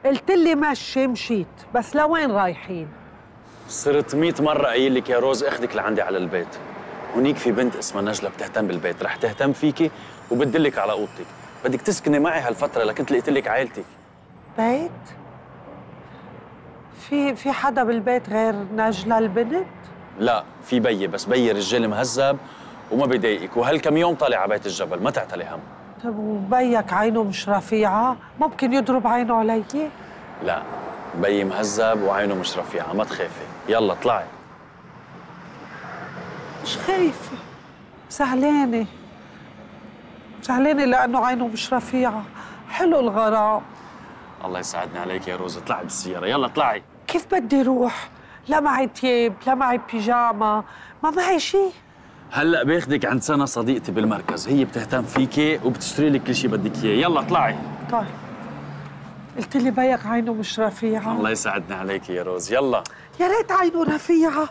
قلت لي مشي مشيت، بس لوين رايحين؟ صرت 100 مرة قايل لك يا روز اخدك لعندي على البيت. هونيك في بنت اسمها نجلة بتهتم بالبيت، رح تهتم فيكي وبتدلك على اوضتك. بدك تسكني معي هالفترة لكنت لقيت لك عائلتك. بيت؟ في حدا بالبيت غير نجلة البنت؟ لا، في بيي، بس بيي رجال مهذب وما بيضايقك، وهالكم يوم طالع على بيت الجبل، ما تعتلي هم. طب وبيك عينه مش رفيعة؟ ممكن يضرب عينه علي؟ لا، بيي مهذب وعينه مش رفيعة، ما تخافي. يلا اطلعي. مش خايفة، زعلانة لأنه عينه مش رفيعة. حلو الغرام. الله يسعدني عليك يا روز، اطلعي بالسيارة، يلا اطلعي. كيف بدي روح؟ لا معي تياب، لا معي بيجاما، ما معي شيء. هلا باخدك عند سنة صديقتي بالمركز، هي بتهتم فيكي وبتشتري لك كل شيء بدك اياه، يلا اطلعي. طيب، قلت لي بيك عينه مش رفيعة. الله يسعدني عليك يا روز، يلا. يا ريت عينه رفيعة.